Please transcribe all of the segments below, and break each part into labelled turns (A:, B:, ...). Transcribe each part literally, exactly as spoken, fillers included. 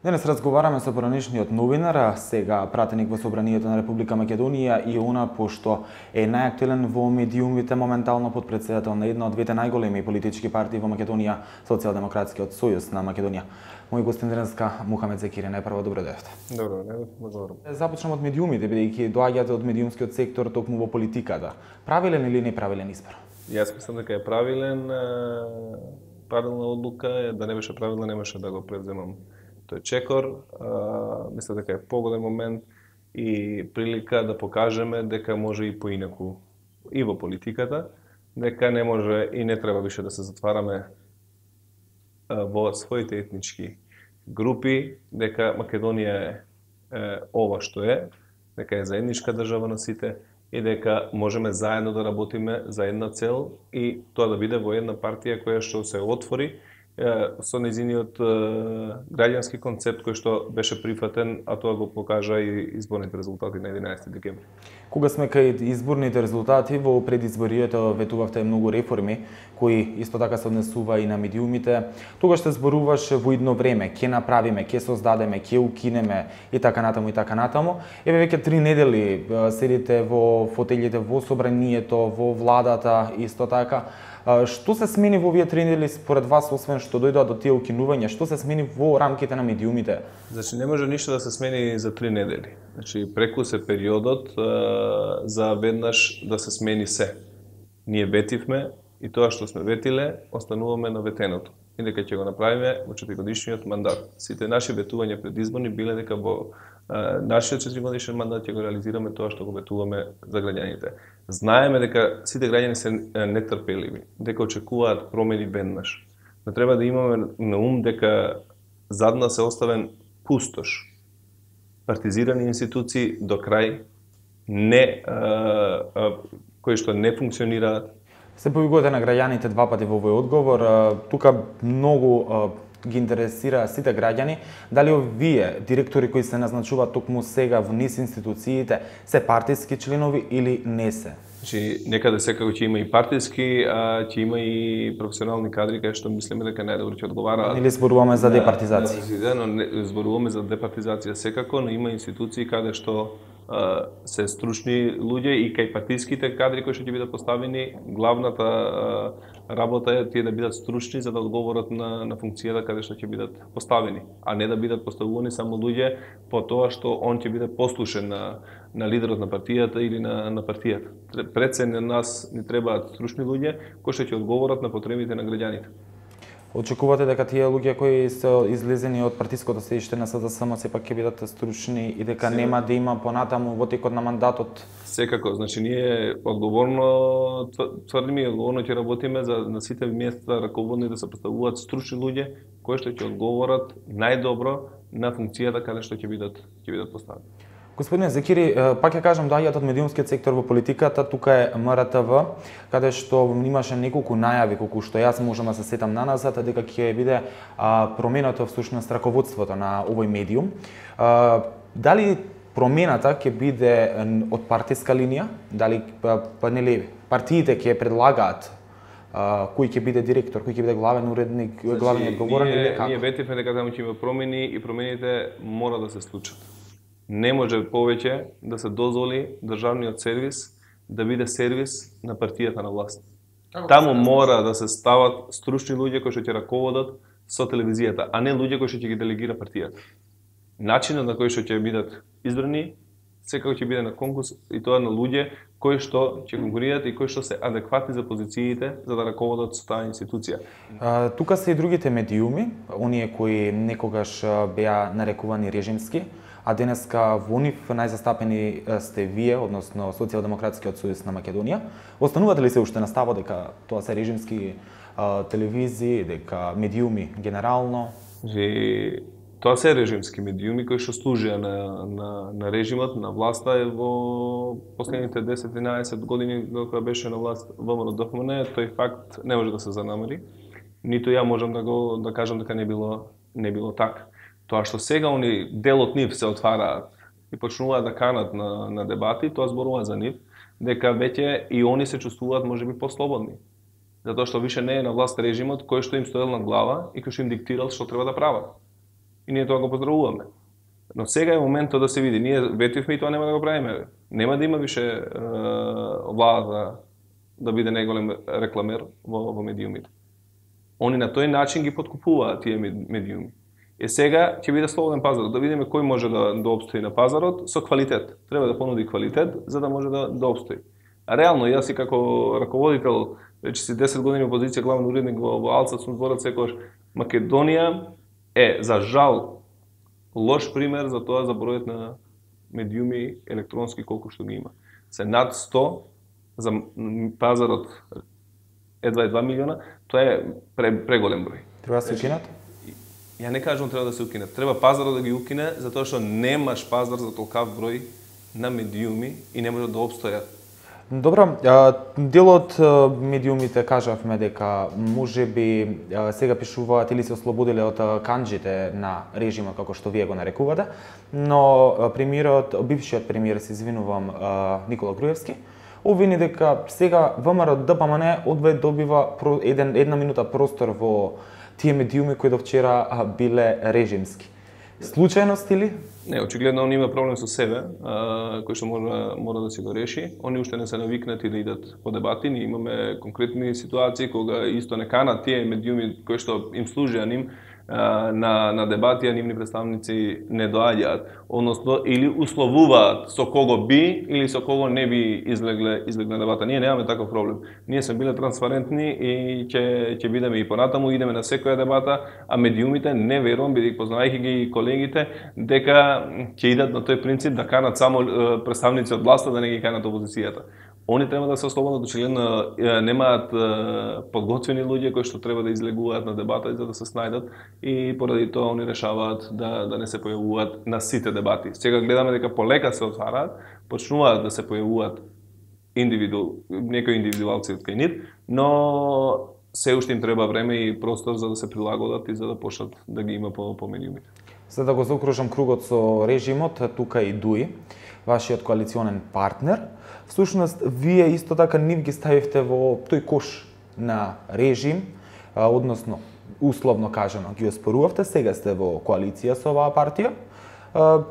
A: Денес разговараме со поранешниот новинар, а сега пратеник во Собранието на Република Македонија и она пошто е најактуелен во медиумите моментално подпредседател на една од двете најголеми политички партии во Македонија, Социјалдемократскиот сојуз на Македонија. Мој гостин денеска Мухамед Закири, најпрво добро дојдовте.
B: Добро, не, благодарам.
A: Започнам од медиумите, бидејќи доаѓате од медиумскиот сектор токму во политиката. Правилен или неправилен избор?
B: Јас мислам дека е правилен, правилна одлука е, да не беше правилна, немаше да го преземам тој чекор. Мислам дека е погоден момент и прилика да покажеме дека може и поинаку и во политиката, дека не може и не треба више да се затвараме во своите етнички групи, дека Македонија е, е ова што е, дека е заедничка држава на сите и дека можеме заедно да работиме за една цел и тоа да биде во една партија која што се отвори со незиниот граѓански концепт кој што беше прифатен, а тоа го покажа и изборните резултати на единаесети декември.
A: Кога сме кај изборните резултати, во предизборието ветувавте многу реформи, кои исто така се однесува и на медиумите. Тогаш се зборуваше во идно време, ќе направиме, ќе создадеме, ќе укинеме и така натаму и така натаму. Еве веќе три недели седите во фотелите во Собранието, во владата, исто така. Што се смени во овие три недели според вас, освен што дојдоа до тие укинувања? Што се смени во рамките на медиумите?
B: Значи, не може ништо да се смени за три недели. Значи, преку се периодот а, за веднаш да се смени се. Ние ветивме и тоа што сме ветиле, остануваме на ветеното. И дека ќе го направиме во четиригодишниот мандат. Сите наши ветувања предизборни биле дека во а, нашиот четиригодишен мандат ќе го реализираме тоа што го ветуваме за граѓаните. Знаеме дека сите граѓани се нетрпеливи, дека очекуваат промени веднаш. Но треба да имаме на ум дека зад нас е оставен пустош. Партизирани институции до крај, не, а, а, кои што не функционираат.
A: Се повикувате на граѓаните два пати во овој одговор. Тука многу ги интересира сите граѓани, дали овие директори кои се назначуваат токму сега во низ институциите се партиски членови или не се?
B: Значи, некаде секако ќе има и партиски, а ќе има и професионални кадри кај што мислиме дека најдобро ќе одговараат.
A: Или зборуваме за департизација?
B: Да, но не, зборуваме за департизација секако, но има институции каде што а, се стручни луѓе и кај партиските кадри кои што ќе бидат поставени, главната а, работа е тие да бидат стручни за да одговорат на на функцијата каде што ќе бидат поставени, а не да бидат поставувани само луѓе по тоа што он ќе биде послушен на на лидерот на партијата или на на партијата. Пред се на нас ни требаат стручни луѓе кои што ќе одговорат на потребите на граѓаните.
A: Очекувате дека тие луѓе кои се излезени од партиското седиште на СДСМ сепак ќе бидат стручни и дека Се... нема да има понатаму во текот на мандатот?
B: Секако, значи ние одговорно тврдиме и одговорно ќе работиме за на сите места раководни да се поставуваат стручни луѓе кои што ќе одговорат најдобро на функцијата каде што ќе бидат ќе бидат поставени.
A: Господин Закири, пак ја кажам, доаѓаат од медиумскиот сектор во политиката, тука е М Р Т В, каде што имаше неколку најави, колку што јас можам да се сетам наназад, дека ќе биде променето всушност раководството на овој медиум. Дали промената ќе биде од партиска линија, дали па нели партиите ќе предлагаат кој ќе биде директор, кој ќе биде главен уредник, значи, главен одговорен или како?
B: Ние ветивме дека таму ќе има промени и промените мора да се случат. Не може повеќе да се дозволи државниот сервис да биде сервис на партијата на власт. Таму мора да се стават стручни луѓе кои што ќе раководат со телевизијата, а не луѓе кои што ќе ги делегира партијата. Начинот на кој што ќе бидат избрани секако ќе биде на конкурс и тоа на луѓе кои што ќе конкурираат и кои што се адекватни за позициите за да раководат со таа институција.
A: А, тука се и другите медиуми, оние кои некогаш беа нарекувани режимски, а денеска во нив најзастапени сте вие, односно Социјалдемократскиот сојуз на Македонија. Останувате ли се уште на ставот дека тоа се режимски а, телевизии, дека медиуми генерално?
B: И тоа се режимски медиуми кои што служија на, на, на режимот, на власта во последните десет-единаесет години кога беше на власт В М Р Д Ф М Н, тој факт не може да се занамери. Ниту ја можам да го да кажам дека не било не било така. Тоа што сега они дел од нив се отвараат и почнуваат да канат на на дебати, тоа зборува за нив дека веќе и они се чувствуваат можеби послободни. Затоа што више не е на власт режимот кој што им стоел на глава и кој што им диктирал што треба да прават. и ние тоа го поздравуваме. Но сега е моментот да се види. Ние ветивме и тоа нема да го правиме. Нема да има више е, влада да биде најголем рекламер во, во медиумите. Они на тој начин ги подкупуваат тие медиуми. Е сега ќе биде слободен пазар, да видиме кој може да, да обстои на пазарот со квалитет. Треба да понуди квалитет за да може да, да обстои. А реално, јас и како раководител, веќе си десет години опозиција, главен уредник во, во Алца, сум зборат секогаш, Македонија е, за жал, лош пример за тоа за бројот на медиуми електронски колку што ги има. Се над сто за пазарот едва два милиона, тоа е преголем број.
A: Треба да се укинат?
B: Ја не кажувам треба да се укинат. Треба пазарот да ги укине, затоа што немаш пазар за толкав број на медиуми и не можат да обстојат.
A: Добро, дел од медиумите кажавме дека можеби сега пишуваат или се ослободиле од канџите на режимот како што вие го нарекувате, но премиерот, бившиот премиер, се извинувам, Никола Груевски, обвини дека сега ВМРО Д П М Н одвај добива еден, една минута простор во тие медиуми кои до вчера биле режимски. Случајност или?
B: Не, очигледно он има проблем со себе, а, кој што мора, мора да си го реши. Они уште не се навикнати да идат по дебати. Ние имаме конкретни ситуации кога исто не канат тие медиуми кои што им служија ним а, на, на дебати, а нивни представници не доаѓаат. Односно, или условуваат со кого би или со кого не би излегле, излегле дебата. Ние немаме таков проблем. Ние сме биле транспарентни и ќе ќе бидеме и понатаму, идеме на секоја дебата, а медиумите не верувам, бидејќи познавајќи ги колегите, дека ќе идат на тој принцип да канат само представници од власта, да не ги канат опозицијата. Они треба да се ослободат, очигледно немаат подготвени луѓе кои што треба да излегуваат на дебата за да се снајдат и поради тоа они решаваат да да не се појавуваат на сите дебати. Сега гледаме дека полека се отвараат, почнуваат да се појавуваат индивиду, некои индивидуалци од кај нив, но се уште им треба време и простор за да се прилагодат и за да почнат да ги има по, по медиумите.
A: За да го заокружам кругот со режимот, тука и Дуи, вашиот коалиционен партнер. Всушност, вие исто така нив ги ставивте во тој кош на режим, односно, условно кажано, ги оспорувавте, сега сте во коалиција со оваа партија.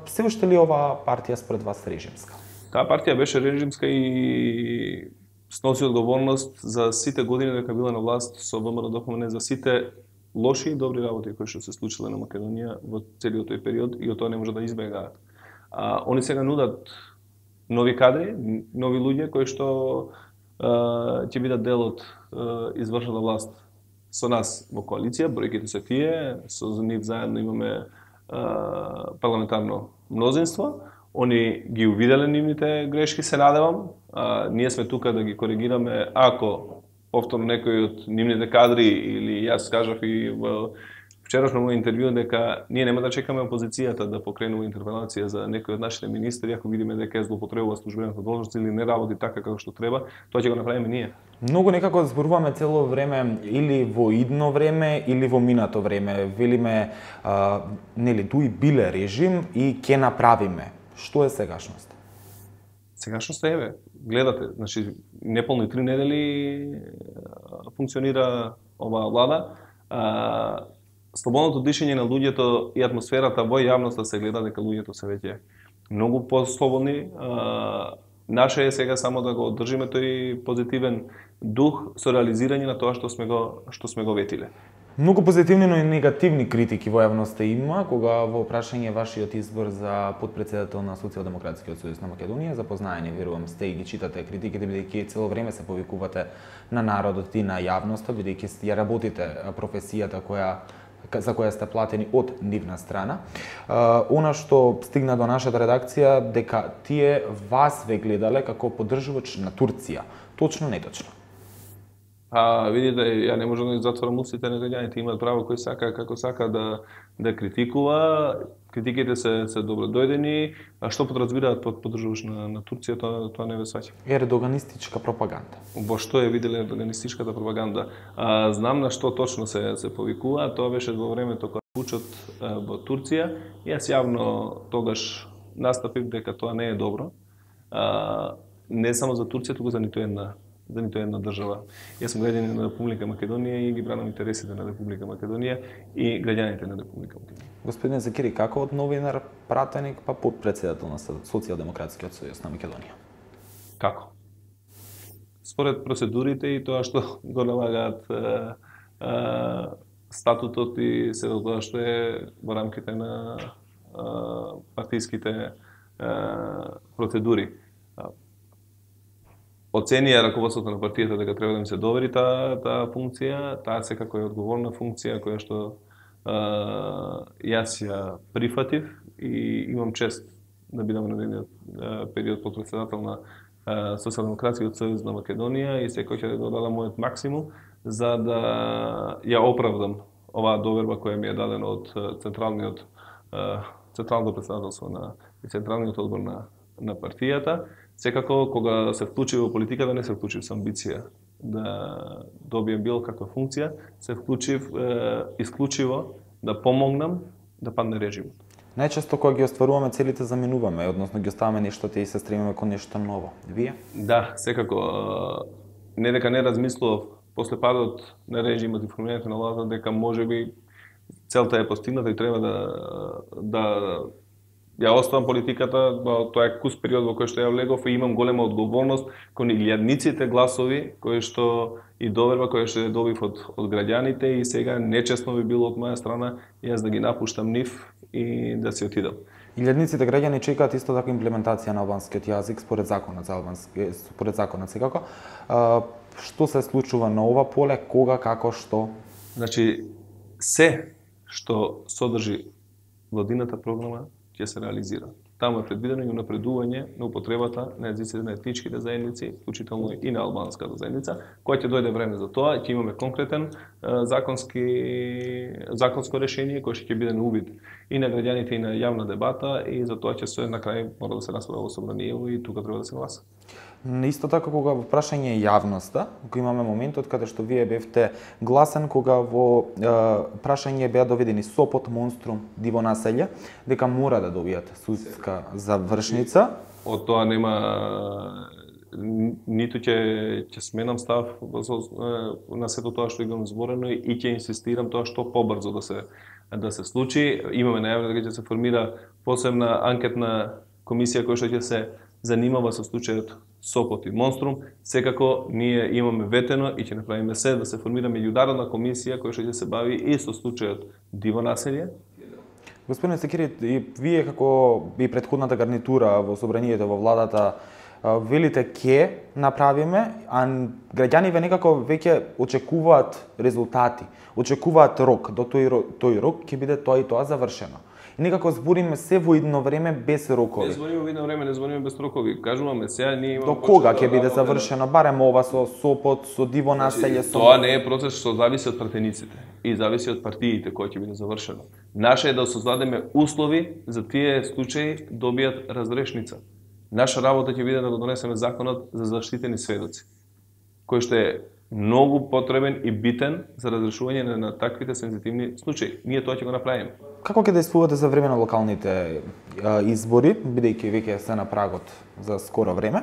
A: Се уште ли оваа партија според вас режимска?
B: Таа партија беше режимска и сноси одговорност за сите години дека била на власт со ВМРО Д П М Н, за сите лоши и добри работи кои што се случиле на Македонија во целиот тој период и од тоа не може да избегаат. А, они сега нудат нови кадри, нови луѓе кои што а, ќе бидат дел од извршната власт со нас во коалиција, бројките се тие, со нив заедно имаме а, парламентарно мнозинство. Они ги увиделе нивните грешки, се надевам. А, ние сме тука да ги коригираме ако повторно некој од нивните кадри или јас кажав и во вчерашно мој интервју дека ние нема да чекаме опозицијата да покренува интерпелација за некој од нашите министри, ако видиме дека е злоупотребува службената должност или не работи така како што треба, тоа ќе го направиме ние.
A: Многу некако зборуваме цело време или во идно време или во минато време. Велиме, а, нели, Дуи биле режим и ќе направиме. Што е сегашност?
B: Сегашност е, гледате, значи неполни три недели функционира оваа влада. А, слободното дишење на луѓето и атмосферата во јавноста се гледа дека луѓето се веќе многу послободни. А, наше е сега само да го одржиме тој позитивен дух со реализирање на тоа што сме го што сме го ветиле.
A: Многу позитивни, но и негативни критики во јавноста има кога во прашање вашиот избор за потпредседател на Социјалдемократскиот сојуз на Македонија, запознаени, верувам, сте и ги читате критиките, бидејќи цело време се повикувате на народот и на јавноста, бидејќи ја работите професијата која за која сте платени од нивна страна. Она што стигна до нашата редакција дека тие вас ве гледале како поддржувач на Турција. Точно, неточно?
B: А видите, ја не можам да ги затворам устите на граѓаните, имаат право кој сака како сака да да критикува. Критиките се се добродојдени, а што подразбираат под поддржувач на на Турција, тоа тоа не ве сваќам.
A: Ердоганистичка пропаганда.
B: Во што е виделе ердоганистичката пропаганда? А, знам на што точно се се повикува, тоа беше во времето кога пучот во Турција. Јас јавно тогаш настапив дека тоа не е добро. А, не само за Турција, туку за ниту една за ниту една држава. Јас сум граѓанин на Република Македонија и ги бранам интересите на Република Македонија и граѓаните на Република Македонија.
A: Господин Закири, како од новинар, пратеник, па подпредседател на Социјалдемократскиот сојуз на Македонија?
B: Како? Според процедурите и тоа што го налагаат е, е, статутот и се тоа што е во рамките на е, партиските е, процедури. Оценија раководството на партијата дека треба да им се довери таа таа функција, таа секако е одговорна функција која што е, јас ја прифатив и имам чест да бидам на нивниот период подпредседател на Социјалдемократскиот сојуз на Македонија и секој ќе да дадам мојот максимум за да ја оправдам оваа доверба која ми е дадена од централниот централното претседателство на и централниот одбор на на партијата. Секако кога се вклучив во политиката не се вклучив со амбиција да добием било каква функција, се вклучив е, исклучиво да помогнам да падне режимот.
A: Најчесто кога ги остваруваме целите заменуваме, односно ги оставаме нештото и се стремиме кон нешто ново. Вие?
B: Да, секако. Не дека не размислував после падот на режимот и формирањето на владата дека можеби целта е постигната и треба да да ја оставам политиката, но тоа е кус период во кој што ја влегов и имам голема одговорност кон илјадниците гласови кои што и доверба која што ја добив од од граѓаните и сега нечесно би било од моја страна јас да ги напуштам нив и да се отидам.
A: Илјадниците граѓани чекаат исто така имплементација на албанскиот јазик според законот за албански според законот секако. А, што се случува на ова поле, кога, како, што?
B: Значи се што содржи владината програма ќе се реализира. Таму е предвидено и унапредување на употребата на езиците на етничките заедници, вклучително и на албанската заедница, која ќе дојде време за тоа, ќе имаме конкретен е, законски законско решение кое ќе биде на увид и на граѓаните и на јавна дебата и за тоа ќе се на крај мора да се расправа во собранието и тука треба да се гласа.
A: Исто така кога во прашање јавноста, кога имаме моментот каде што вие бевте гласен кога во е, прашање беа доведени Сопот, Монструм, Диво населје, дека мора да добијат судска завршница.
B: Од тоа нема ниту ќе ќе сменам став на сето тоа што имам зборено и ќе инсистирам тоа што побрзо да се да се случи. Имаме најавено дека ќе се формира посебна анкетна комисија која што ќе се занимава со случајот Сопот и Монструм. Секако ние имаме ветено и ќе направиме се да се формира меѓународна комисија која што ќе се бави и со случајот Диво населје.
A: Господин Закири, и вие како и претходната гарнитура во собранието во владата велите ке направиме, а граѓаниве некако веќе очекуваат резултати, очекуваат рок, до тој, тој рок ќе биде тоа и тоа завршено. И некако збориме се во едно време без рокови.
B: Не збориме во едно време, не збориме без рокови. Кажуваме сега ние имаме
A: до кога ќе биде завршено барем ова со Сопот, со Диво населје, со
B: тоа не е процес што зависи од пратениците и зависи од партиите кои ќе биде завршено. Наше е да создадеме услови за тие случаи добијат разрешница. Наша работа ќе биде да го донесеме законот за заштитени сведоци, кој што е многу потребен и битен за разрешување на, на таквите сензитивни случаи. Ние тоа ќе го направиме.
A: Како ќе действувате за време на локалните а, избори, бидејќи веќе се на прагот за скоро време?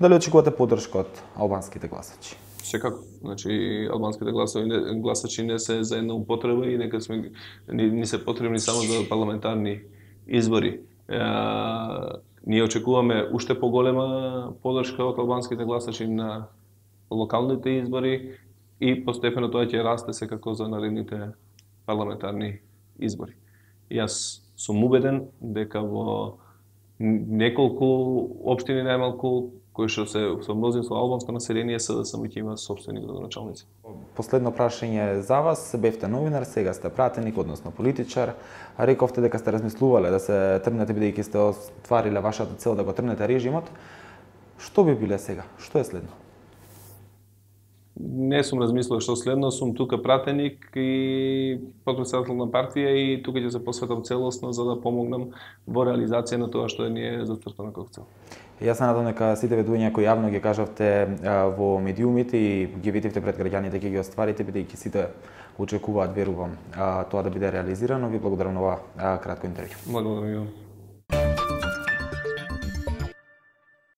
A: Дали очекувате поддршка од албанските гласачи?
B: Секако. Значи, албанските гласови, гласачи не се за една употреба и нека сме ни, ни се потребни само за парламентарни избори. Е, ние очекуваме уште поголема поддршка од албанските гласачи на локалните избори и постепено тоа ќе расте секако за наредните парламентарни избори. Јас сум убеден дека во неколку општини најмалку кои што се со мнозинство албанско население се да само ќе има сопствени градоначалници.
A: Последно прашање за вас, бевте новинар, сега сте пратеник, односно политичар. Рековте дека сте размислувале да се тргнете бидејќи сте оствариле вашата цел да го тргнете режимот. Што би биле сега? Што е следно?
B: Не сум размислувал што следно, сум тука пратеник и подпредседател на партија и тука ќе се посветам целосно за да помогнам во реализација на тоа што ни е зацртано како цел.
A: Јас се надам дека сите ведувања кои јавно ги кажавте во медиумите и ги видите пред граѓаните ќе ги остварите, бидејќи сите очекуваат, верувам, тоа да биде реализирано. Ви благодарам на ова кратко интервју.
B: Благодарам.